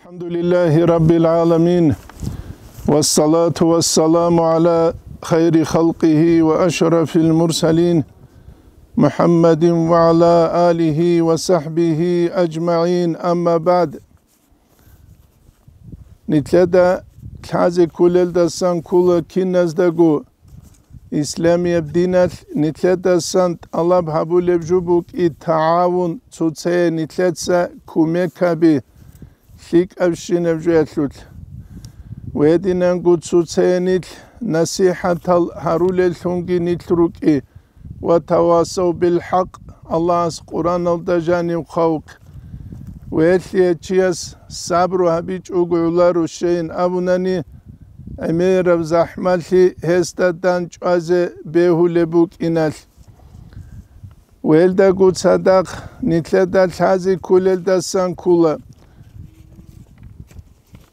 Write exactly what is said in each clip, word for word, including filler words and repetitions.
الحمد لله رب العالمين، والصلاة والسلام على خير خلقه وأشرف المرسلين، محمد وعلى آله وصحبه أجمعين، أما بعد. Нилъеда лъазе кколелдасан ккола киназдаго. Исламияб диналъ нилъедасан тӀалаб гьабулеб жо букӀи тагӀавун, цоцае нилъеца кумек гьаби, лъикӀабщинаб жоялъулъ. Гьединанго цоцае нилъ насихӀатал гьарулеллъунги нилъ рукӀи, ва тавасав бил хӀакъ, Аллагьас Къураналда жанив хъвавухъ. Гьелъие чияс сабру гьабичӀого гӀоларо щайин абунани, гӀемераб захӀмалъи гьесда дандчӀвазе бегьулеб букӀиналъ. Гьелдаго цадахъ нилъеда лъазе кколелдасан ккола.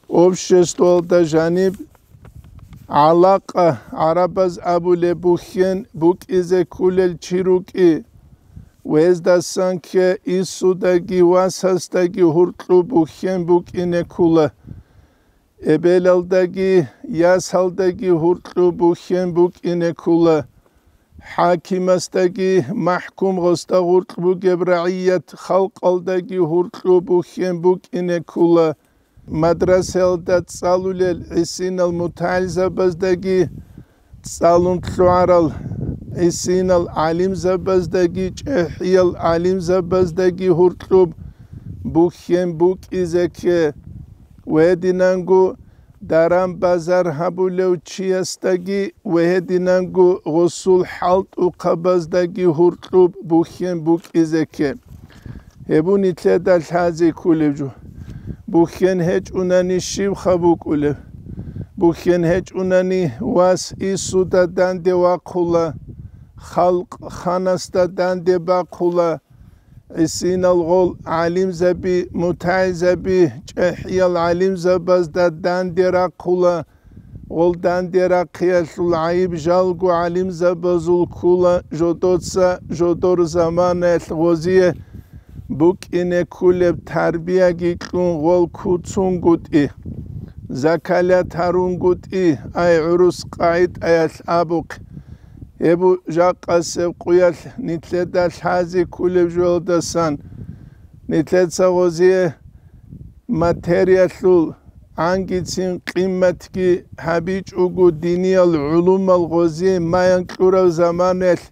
Обществоялда жаниб гӀалакъа, гӀарабаз абулеб, бухьен букӀизе кколел чи рукӀи, гьездасан ккей инсудаги васасдаги гьуркьуб бухьен букӀине ккола. Эбелалдаги ясалдаги гьуркьуб бухьен букӀине ккола. ХӀакимасдаги, махӀкум гъосда гъуркь бугеб рагӀият халкъалдаги гьуркьуб бухьен букӀине ккола. Мадрасаялда цӀалулел гӀисинал мутагӀилзабаздаги, цӀалун лъугӀарал гӀисинал гӀалимзабаздаги, чӀехӀиял гӀалимзабаздаги гьуркьуб бухьен букӀизе кке. Гьединанго даран-базар гьабулев чиясдаги ва гьединанго гъосул хӀалтӀухъабаздаги гьуркьуб бухьен букӀизе кке. Гьеб нилъеда лъазе кколеб жо. Бухьен гьечӀунани щибха букӀулеб? Бухьен гьечӀунани вас инсуда данде вахъула, халкъ ханасда данде бахъула, гӀисинал гъол гӀалимзаби, мутагӀилзаби, чӀехӀиял гӀалимзабазда данде рахъула, гъол данде рахъиялъул гӀайиб жалго гӀалимзабазул ккула, жодоца жодор заманаялъ гъозие букӀине кколеб тарбияги кьун гъол куцунгутӀи, закалат гьарунгутӀи, ай гӀурус къагӀидаялъ абухъ. Гьеб жакъасеб къуялъ нилъеда лъазе кколеб жоялдасан, нилъеца гъозие материялъул гӀангицин къимматги гьабичӀого, диниял гӀулумал гъозие маян кьурав заманаялъ,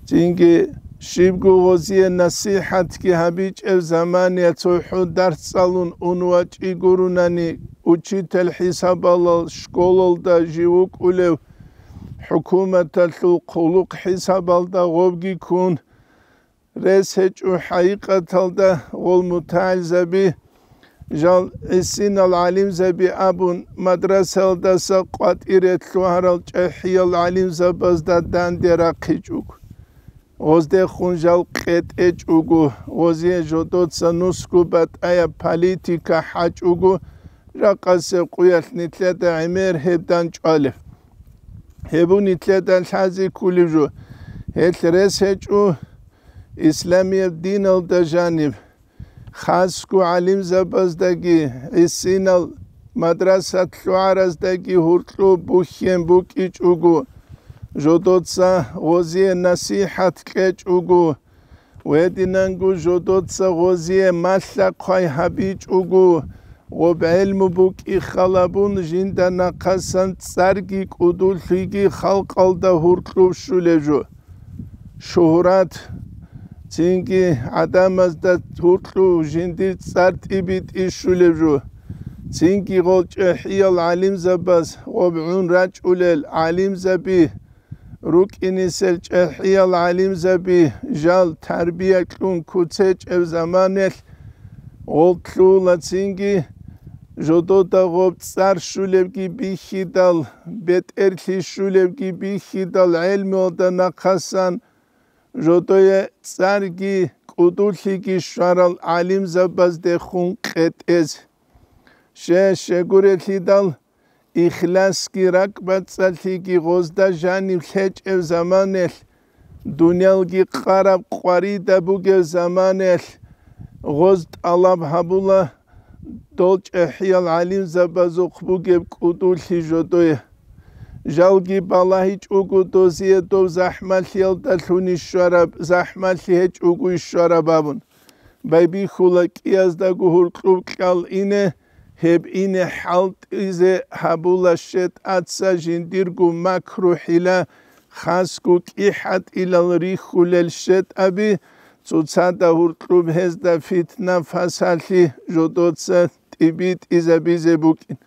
цинги щибго гъозие насихӀатги гьабичӀев заманаялъ цохӀо дарс цӀалун ун вачӀи гурунани, учитель хӀисабалал школалда жив вукӀулев, хӀукуматалъул хъулухъ хӀисабалда гъобги ккун, рес гьечӀо хӀакъикъаталда гъол мутагӀилзаби, жал гӀисинал гӀалимзаби абун, мадрасаялдаса къватӀире лъугьарал чӀехӀиял гӀалимзабазда данде рахъичӀого. Гъоздехун жал къетӀечӀого, гъозие жодоца нусго батӀаяб политика хӀачӀого, жакъасеб къуялъ нилъеда гӀемер гьеб дандчӀвалеб. Гьеб нилъеда лъазе кколеб жо. Гьелъ рес гьечӀо исламияб диналда жаниб, хасго гӀалимзабаздаги, гӀисинал мадрасат лъугӀараздаги гьуркьуб бухьен букӀичӀого, жодоца гъозие насихӀат кьечӀого, гьединанго жодоца гъозие малъа-хъвай гьабичӀого, гъоб гӀелму букӀи халабун жинда нахъасан цӀарги кӀудулъиги халкъалда гьуркьуб щулеб жо. Шугьрат, цинги гӀадамазда гьуркьуб жиндир цӀар тӀибитӀи щулеб жо. Цинги гъол чӀехӀиял гӀалимзабаз гъоб гӀун рачӀулел гӀалимзаби, рукӀинисел чӀехӀиял гӀалимзаби жал тарбия кьун куцечӀеб заманаялъ, гъол лъугьула цинги жодода гъоб цӀар щулебги бихьидал, бетӀерлъи щулебги бихьидал гӀелмуялда нахъасан, жодое цӀарги кӀудулъиги щварал гӀалимзабаздехун къетӀез. Ще-, щегурелъидал, ихласги ракӀбацӀцӀалъиги гъозда жаниб лъечӀеб заманаялъ, дуниялги къараб къварида бугеб заманаялъ, гъоз тӀалаб гьабула, дол чӀахӀиял гӀалимзабазухъ бугеб кӀудулъи жодое. Жалги балагьичӀого дозие дов захӀмалъиялдалъун ищвараб, захӀмалъи гьечӀого ищвараб абун. Байбихьула кӀияздаго гьуркьуб кьал ине, гьеб ине хӀалтӀизе гьабула щетӀаца жиндирго макру-хӀила, хасго кӀихӀатӀилал рихьулел щетӀаби, цоцазда гьуркьуб гьезда фитна-фасалъи жодоца тӀибитӀизабизе букӀин.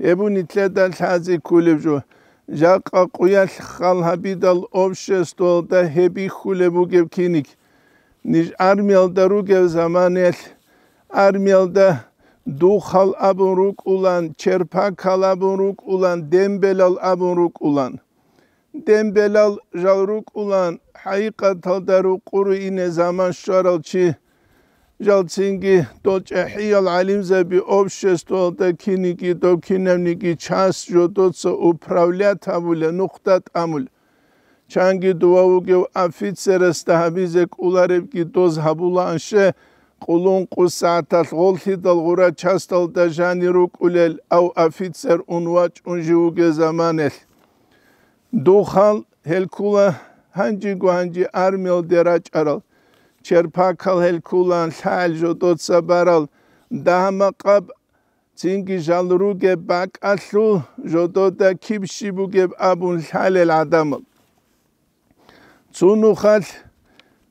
Гьеб нилъеда лъазе кколеб жо. Жакъа къуялъ хал гьабидал обществоялда гьеб бихьулеб бугеб киник. Ниж армиялда ругев заманаялъ, армиялда духал абун рукӀулан, черпакал абун рукӀулан, дембелал абун рукӀулан. Дембелал жал рукӀулан, хӀакъикъаталда рукъуре ине заман щварал чи. Жал цинги дол чӀахӀиял гӀалимзаби обществоялда киниги дов кинавниги часть жодоца управлять гьабула, нухда тӀамула. Чанги дова вугев офицерасда гьабизе кӀоларебги доз гьабулаанщи, къуллун къу сагӀаталъ гъоллъидал гъура часталда жанир рукӀулел ав офицер ун вачӀун жив вугев заманаялъ. Духал гьел ккула гьанжего-гьанже армиялде рачӀарал, черпакал гьел ккулаан лъагӀел жодоца барал, дагьа-макъаб цинги жал ругеб бакӀалъул жодода киб щиб бугеб абун лъалел гӀадамал. Цо нухалъ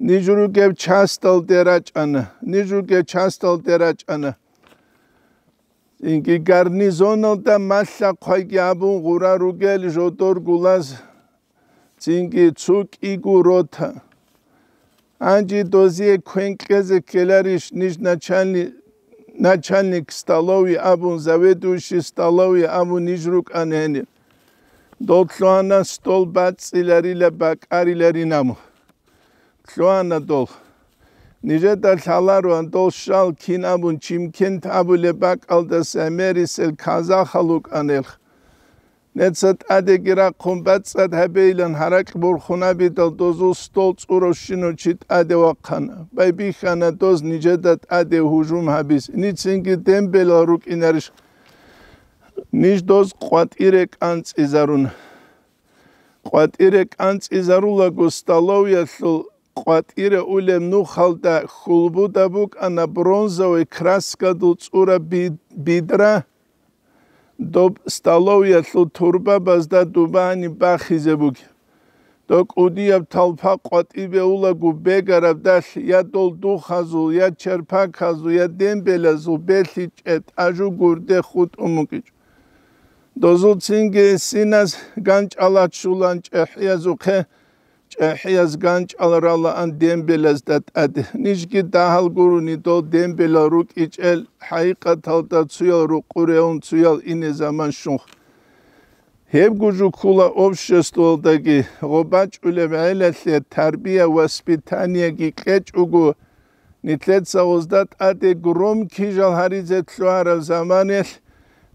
ниж ругеб часталде рачӀана, ниж ругеб часталде рачӀана. Цинги гарнизоналда малъа-хъвайги абун гъура ругел жодор гулаз, цинги цо кӀиго рота. Гьанже дозие квен кьезе ккеларищ ниж начальни-, начальник столовой абун, заведующий столовой абун ниж рукӀана гьенир. Дол лъугьана стол бацӀцӀиларила, бакӀариларин абун. Лъугьана дол. Нижеда лъалароан дол щал кин абун Чимкент абулеб бакӀалдаса гӀемерисел казахал вукӀанелха. Неца тӀадеги рахъун бацӀцӀад гьабейилан гьаракь борхун абидал дозул стол цӀуравщинав чи тӀаде вахъана. Байбихьана доз нижеда тӀаде гьужум гьабизе. Нижецинги дембелал рукӀинарищ? Ниж доз къватӀире кӀанцӀизаруна. КъватӀире кӀанцӀизарулаго столовиялъул къватӀире улеб нухалда хьулбуда букӀана бронзовый краскадул цӀураб би-, бидра. Доб столовиялъул турбабазда дубани бахизе бугеб. Доб кӀудияб толпа къватӀибе улаго бегарабдалъ я дол духазул, я черпаказул, я дембелазул белъичӀеб тӀажу гурде хутӀун букӀичӀо. Дозул цинги гӀисиназ ганчӀал рачулан чӀехӀиязухъе, чӀехӀияз ганчӀал ралаан дембелазда тӀаде. Нижги дагьал гурони дол дембелал рукӀичӀел, хӀакъикъаталда цуял рукъуреун цуял ине заман щунха. Гьебго жо ккула обществоялдаги, гъоб бачӀулеб гӀелалъе тарбия-воспитаниеги кьечӀого, нилъеца гъозда тӀаде громкий жал гьаризе лъугьараб заманалъ,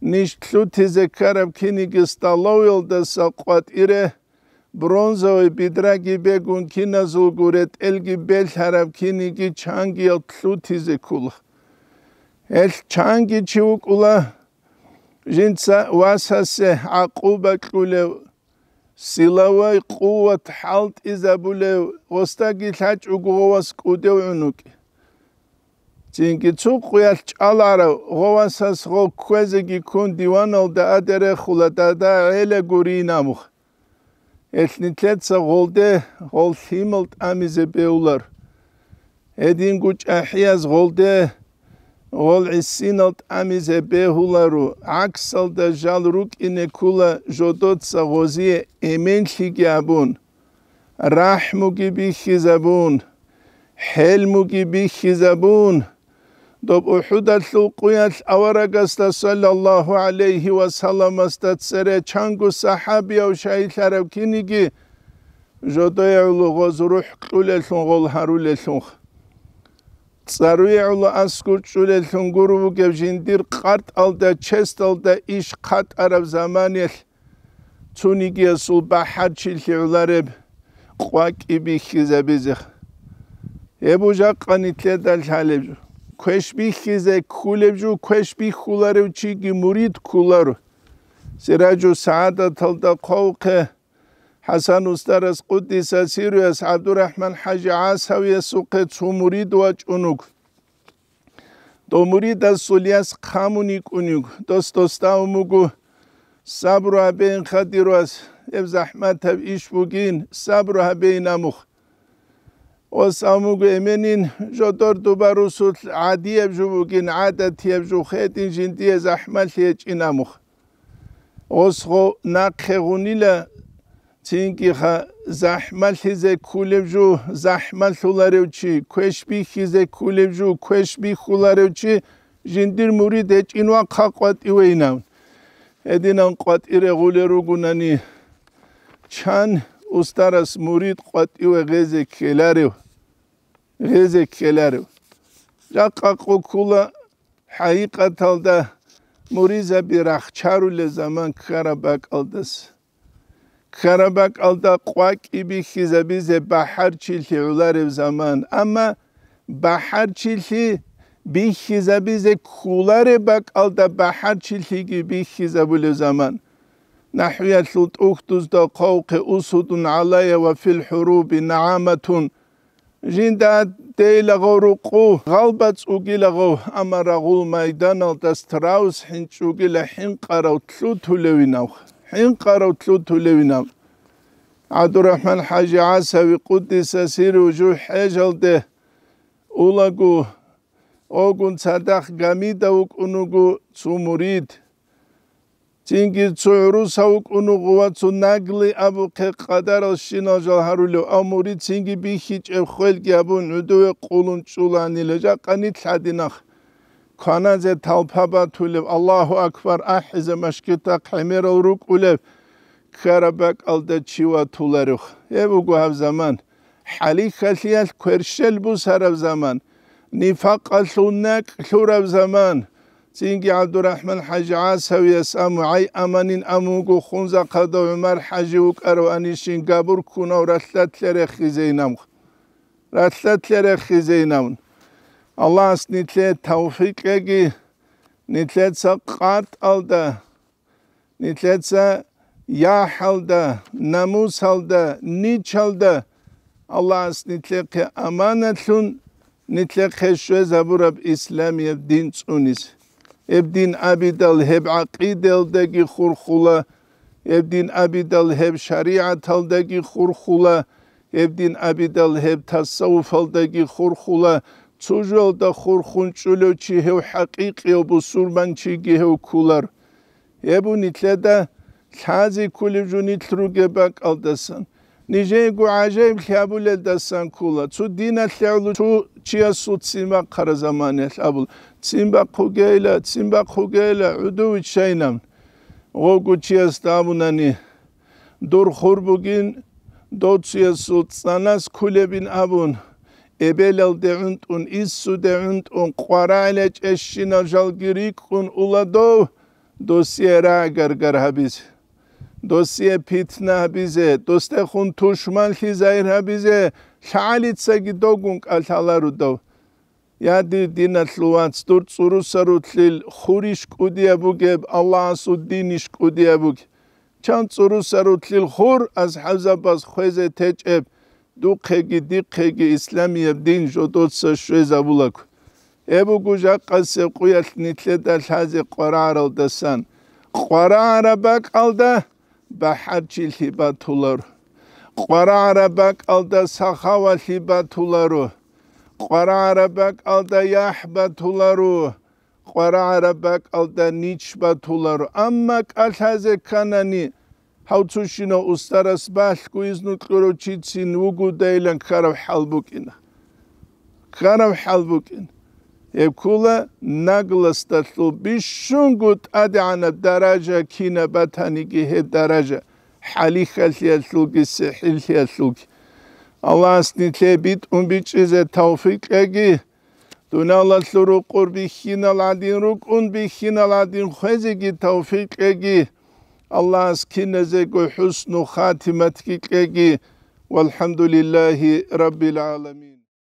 ниж лъутизе ккараб киниги столовиялдаса къватӀире, бронзовый бидраги бегун киназулго ретӀелги белъараб киниги чангиял лъутизе ккола. Гьелъ чанги чи вукӀула, жинца васасе гӀакъуба кьулев, силовой къуват хӀалтӀизабулев, гъосдаги лъачӀого гъовас кӀудев гӀунукӀ. Цинги цо къуялъ чӀаларав гъовасас гъов кквезеги ккун диваналда адерехула дада гӀела гурин абух. Гьелъ нилъеца гъолде гъол лъимал тӀамизе бегьулар. Гьединго чӀахӀияз гъолде гъол гӀисинал тӀамизе бегьуларо, гӀаксалда жал рукӀине ккула жодоца гъозие эменлъиги абун, рахӀмуги бихьизабун, хӀелмуги бихьизабун, доб УхӀудалъул къуялъ аварагасда саллаллагьу гӀалайгьи ва салламасда цере чанго сахӀабияв шагьидлъараб киниги, жодое гӀоло гъоз рухӀ кьулеллъун гъол гьарулеллъунха. ЦӀаруе гӀоло аскӀор чӀулеллъун гуро бугеб жиндир къартӀалда, честалда иш хъатӀараб заманалъ, цонигиясул бахӀарчилъи гӀолареб къвакӀи бихьизабизе. Гьеб жакъа нилъеда лъалеб жо. квеш бихьизе кколеб жо, квеш бихьуларев чиги мурид кколаро. Сираджу СагӀадаталда хъвавухъе, ХӀасан устарас къуддиса сирруяс ГӀабдурахӀман ХӀажи ГӀасавиясухъе цо мурид вачӀун вуго. Дов муридасул яс хъамун йикӀун йиго. Дос досда абун буго: «Сабру гьабейин, хадирвас, гьеб захӀматаб иш бугин, сабру гьабейин амухъ». Ос абун буго: «Эменин, жодор дуба русулъ гӀадияб жо бугин, гӀадатияб жо хетӀин, жиндие захӀмалъи гьечӀин амухъ». Ос гъо нахъе гъунила, цинги ха захӀмалъизе кколеб жо, захӀмалъуларев чи, квеш бихьизе кколеб жо, квеш бихьуларев чи, жиндир мурид гьечӀин вахъа къватӀивейнав. Гьединан къватӀире гъулел ругунани, чан устарас мурид къватӀиве гъезе ккеларев? Гъезе ккеларев? Жакъа къо ккула хӀакъикъаталда муризаби рахчарулел заман ккараб бакӀалдас. Ккараб бакӀалда къвакӀи бихьизабизе бахӀарчилъи гӀоларев заман. Амма бахӀарчилъи бихьизабизе кколареб бакӀалда бахӀарчилъиги бихьизабулев заман. НахӀвиялъул тӀухьдузда хъвавухъе: «Усудун гӀалайя ва фил хӀуруби нагӀаматун». Жинда дейлагъав рукъу гъалбацӀ угилагъав, амма рагъул майданалда страус хӀинчӀ угила хӀинкъарав лъутулевинав, хӀинкъарав лъутулевинав. ГӀабдурахӀман ХӀажи ГӀасави къуддиса сирру жу хӀежалде улаго, огун цадахъ гамида вукӀун вуго цо мурид. Цинги цо гӀурусав вукӀун вуго ва цо нагли абухъе къадаралщинал жал гьарулев, ав мурид цинги бихьичӀеб хвелги абун гӀодове къулун чӀуланила, жакъа нилъ гьадинахъ кваназе талпа батулев, Аллагьу акбар ахӀизе машгитахъ гӀемерал рукӀулев ккараб бакӀалда чи ватуларев. Гьеб буго гьаб заман. ХӀалихьалъиялъ кверщел бусараб заман, нифакъалъул накӀ лъураб заман. Цинги ГӀабдурахӀман ХӀажи ГӀасавияс аму гӀай аманин амуго хунзахъада ГӀумар ХӀажи вукӀарав анищин габур ккунав ралъдалъе рехизейнамх. Ралъдалъе рехизейнавун. Аллагьас нилъее тавфикъ кьеги, нилъеца къатӀалда, нилъеца яхӀалда, намусалда, ничалда Аллагьас нилъехъе аманатлъун, нилъехъе щвезабураб исламияб дин цӀунис. Гьеб дин абидал гьеб гӀакъидаялдаги хурхула, гьеб дин абидал гьеб шаригӀаталдаги хурхула, гьеб дин абидал гьеб тасаввуфалдаги хурхула, цо жоялда хурхун чӀулев чи гьев хӀакъикъияв бусурманчиги гьев кколар. Гьеб нилъеда лъазе кколеб жо нилъ ругеб бакӀалдасан, нижеего гӀажаиблъи гьабулелдасан ккола. Цо диналъе гӀоло цо чиясул ццин бахъараб заманаялъ абула: «Ццин бахъугейила, ццин бахъугейила, гӀодов виччайинан». Гъого чиясда абунани: «Дур хур бугин, дов цоясул цӀанас кколебин», абун, эбелалде гӀунтӀун, иссуде гӀунтӀун, къварагӀила чӀещинал жалги рикӀкӀун ула дов, досие рагӀ-гаргар гьабизе, досие питна гьабизе, досдехун тушманлъи загьир гьабизе лъагӀалицаги довгун кӀалъалародав. Я, дир диналъул вац, дур цӀурусарулъил хурищ кӀудияб бугеб, Аллагьасул динищ кӀудияб бугеб? Чан цӀурусарулъил хур асхӀабзабаз хвезе течӀеб, духъеги дихъеги исламияб дин жодоца щвезабулаго. Гьеб буго жакъасеб къуялъ нилъеда лъазе къварагӀаралдасан. КъварагӀараб бакӀалда бахӀарчилъи батуларо. КъварагӀараб бакӀалда сахавалъи батуларо. КъварагӀараб бакӀалда яхӀ батуларо. КъварагӀараб бакӀалда нич батуларо. Амма кӀалъазе кканани, гьав цущинав устарас балъго изну кьурав чицин вугодайилан ккараб хӀал букӀина. Ккараб хӀал букӀин. Гьеб ккола наглосталъул бищунго тӀадегӀанаб даража, кинаб батаниги гьеб даража, хӀалихьалъиялъулги сихӀиллъиялъулги. Аллагьас нилъее битӀун бичӀчӀизе тавфикъ кьеги, дуниялалъул рукъур бихьинал гӀадин рукӀун, бихьинал гӀадин хвезеги тавфикъ кьеги, Аллагьас киназего хӀусну хатиматги кьеги. ВалхӀамдулиллагьи раббил гӀаламин.